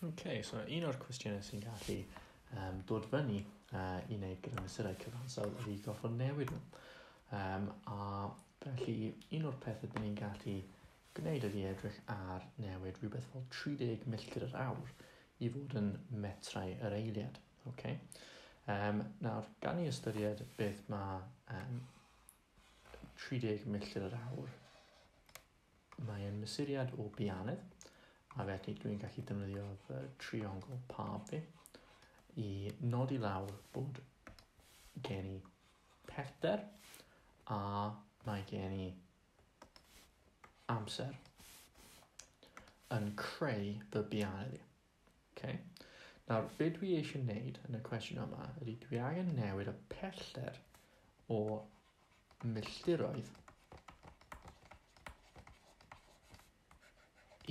Ok, so un o'r cwestiynau sy'n gallu dod fyny i wneud gyda mesurau cyfansawdd ydy gorfod newid nhw. A felly un o'r pethau dyn ni'n gallu gwneud ydy edrych ar newid rhywbeth fel 30 milltir yr awr i fod yn metrau yr eiliad. Okay? Nawr, gan i ystyried beth mae 30 milltir yr awr, mae e'n mesuriad o bianedd, a felly dwi'n gallu defnyddio fy triongl pab fi i nodi lawr bod gen i pellter a mae gen i amser yn creu fy bianedd i. Okay. Nawr, be dwi eisiau wneud yn y cwestiwn yma ydy dwi angen newid y pellter o milltiroedd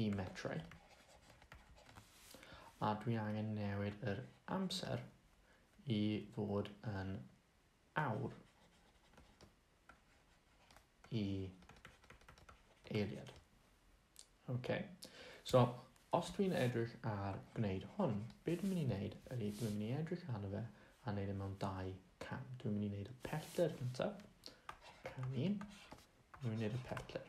i metrau. A dwi angen newid yr amser i fod yn awr i eiliad. Okay. So, os dwi'n edrych ar gwneud hwn, be dwi'n mynd i wneud ydy dwi'n mynd i edrych arno fe a wneud e mewn dau cam. Dwi'n mynd i wneud y pellter gyntaf, cam 1, dwi'n mynd i wneud y pellter.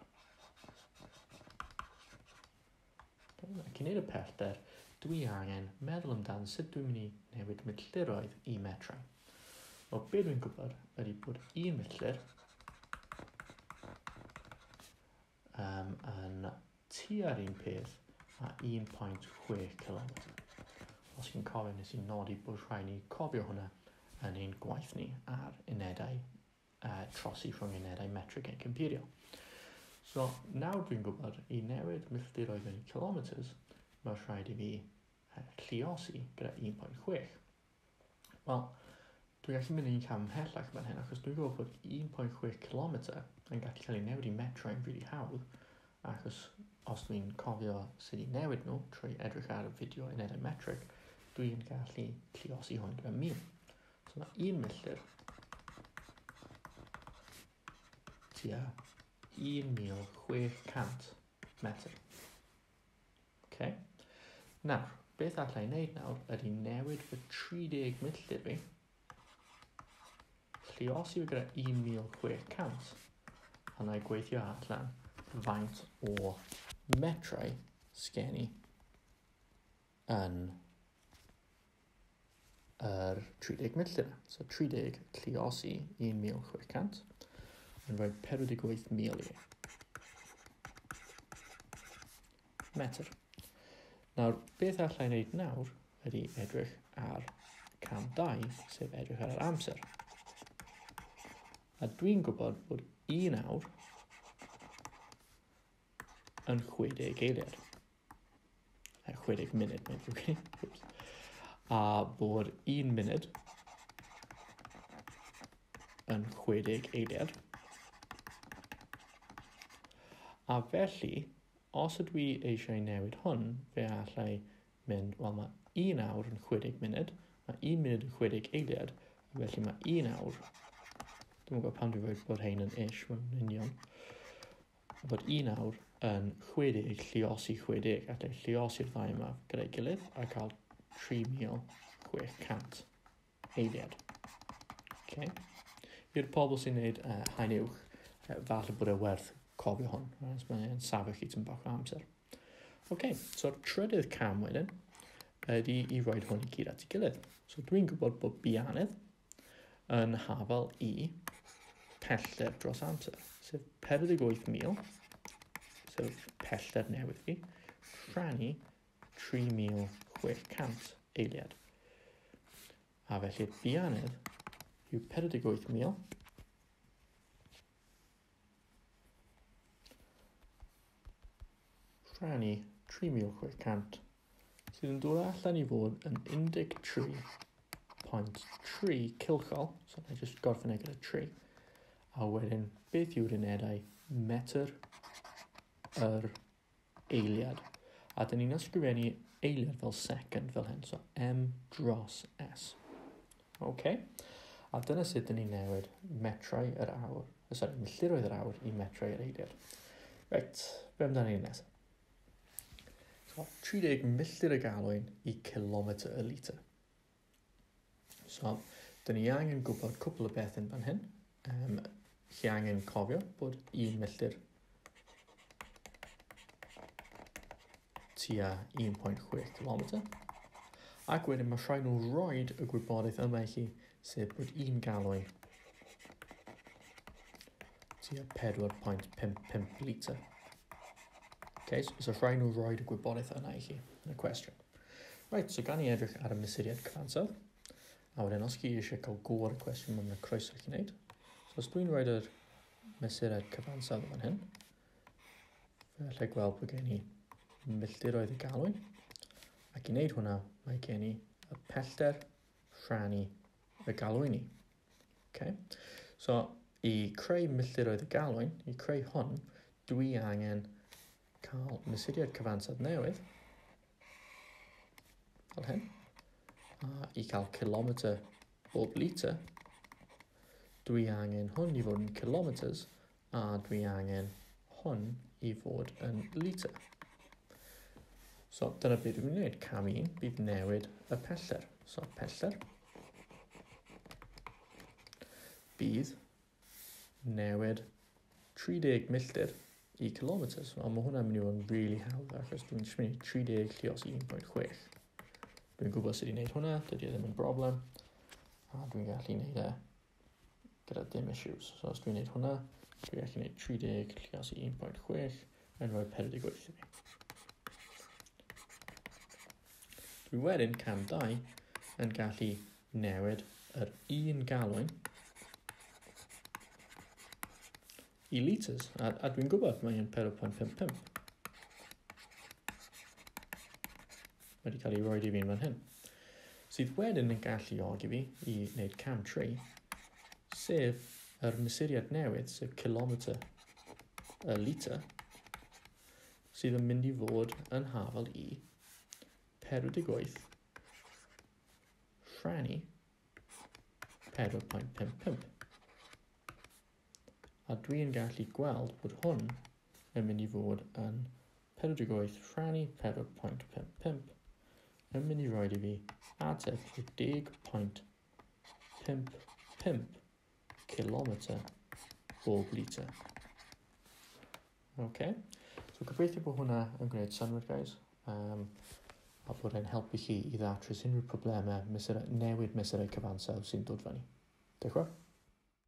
Okay, ac i wneud y pellter, dwi angen meddwl amdan sut dwi'n mynd i newid milltiroedd i metrau. Wel, be dwi'n gwybod ydy bod 1 milltir yn tua'r un peth a 1.6 km. Os chi'n cofio, nes i nodi bod rhaid ni cofio hwnna yn ein gwaith ni ar unedau trosi rhwng unedau metric ac imperial. So, nawr dwi'n gwybod i newid milltiroedd mewn i kilometers, mae rhaid i fi lluosi gyda 1.6. Wel, dwi'n gallu mynd un cam ymhellach fan hyn, achos dwi'n gwybod bod 1.6 km yn gallu cael ei newid i metrau'n rili hawdd, achos os dwi'n cofio sut i newid nhw trwy edrych ar y fideo unedau metric, dwi'n gallu lluosi hwn gyda 1000. So mae 1 milltir tua 1600 metr. Okay. Nawr, beth allai wneud nawr ydy newid fy 30 milltir fi, lluosi fi gyda 1600, a na i gweithio allan faint o metrau sgen i yn yr 30 milltir. So 30 lluosi 1600 yn rhoi 48,000 i fi. Metr. Nawr, beth allai wneud nawr ydy edrych ar cam 2, sef edrych ar yr amser. A dwi'n gwybod bod 1 awr yn 60 eiliad. 60 munud, mae'n ddrwg gen i. Oops. A bod 1 munud yn 60 eiliad. A felly, os ydw i eisiau newid hwn, fe allai mynd, wel mae 1 awr yn 60 munud, mae 1 munud yn 60 eiliad, a felly mae 1 awr, dwi'n gwybod pam dwi'n rhoi bod hein yn ish, mae'n union, bod 1 awr yn 60 lluosi 60, allai lluosi'r ddau yma gyda'i gilydd a cael 3600 eiliad. Okay. I'r pobl sy'n gwneud haen uwch, falle bod e werth cofio hwn, right? Mae'n safio chi tipyn bach o amser. Okay, so'r trydydd cam wedyn ydy i roi hwn i gyd at ei gilydd. So dwi'n gwybod bod bianedd yn hafal i pellter dros amser, sef 48,000, sef pellter newydd fi, rhannu 3,600 eiliad. A felly bianedd yw 48,000 rhannu 3,600, sydd yn dod allan i fod yn 13.3 cylchol, so na i jyst gorffen e gyda 3, a wedyn beth yw'r unedau metr yr eiliad. A dyn ni'n ysgrifennu eiliad fel second fel hyn, so M dros S. Okay. A dyna sut dyn ni'n newid metrau yr awr, sorry, milltiroedd yr awr i metrau yr eiliad. Reit, be amdano ni nesaf? So, 30 milltir y galwyn i kilometr y litr. So, dyn ni angen gwybod cwpl o beth yn fan hyn. Chi angen cofio bod 1 milltir tua 1.6 km. Ac wedyn mae rhaid nhw roed y gwybodaeth yma i chi, sef bod 1 galwyn tua 4.55 litr. Okay, so rhaid nhw roed y gwybodaeth yna i chi yn y cwestiwn. Right, so gan i edrych ar y mesuriad cyfansawdd. A wedyn os chi eisiau cael go ar y cwestiwn, mae'n croeso i chi wneud. So os dwi'n rhoi'r mesuriad cyfansawdd fan hyn, fe allai gweld bod gen i milltiroedd y galwyn. Ac i wneud hwnna, mae gen i y pellter rhannu y galwyn i. Okay? So, i creu milltiroedd y galwyn, i creu hwn, dwi angen cael mesuriad cyfansawdd newydd, fel hyn, a i cael kilometr bob litr, dwi angen hwn i fod yn kilometers, a dwi angen hwn i fod yn litr. So, dyna beth dwi'n gwneud. Cam 1, bydd newid y pellter. So, pellter bydd newid 30 milltir i kilometers. Wel, mae hwnna'n mynd i fod yn really hawdd, achos dwi'n jyst mynd i 30 llios 1.6. Dwi'n gwybod sut i wneud hwnna, dydy e ddim yn broblem, a dwi'n gallu wneud e gyda dim issues. So, os dwi'n wneud hwnna, dwi'n gallu wneud 30 llios 1.6 yn rhoi 48 i fi. Dwi wedyn, cam 2, yn gallu newid yr un galwyn i litres. A dwi'n gwybod mae hyn 4.55. Mae wedi cael ei roed i fi'n fan hyn. Sydd wedyn yn galluogi fi i wneud cam 3, sef yr mesuriad newydd, sef kilometr y litr, sydd yn mynd i fod yn hafal i 48 rhannu 4.55. A dwi'n gallu gweld bod hwn yn mynd i fod yn 48 rhannu 4.55 yn mynd i roed i fi ateb o 10.55 kilometr bob litr. Okay. So gobeithio bod hwnna yn gwneud synnwyr, guys. A bod e'n helpu chi i ddatrys unrhyw problemau newid mesurau cyfansawdd sy'n dod fyny. Diolch yn fawr.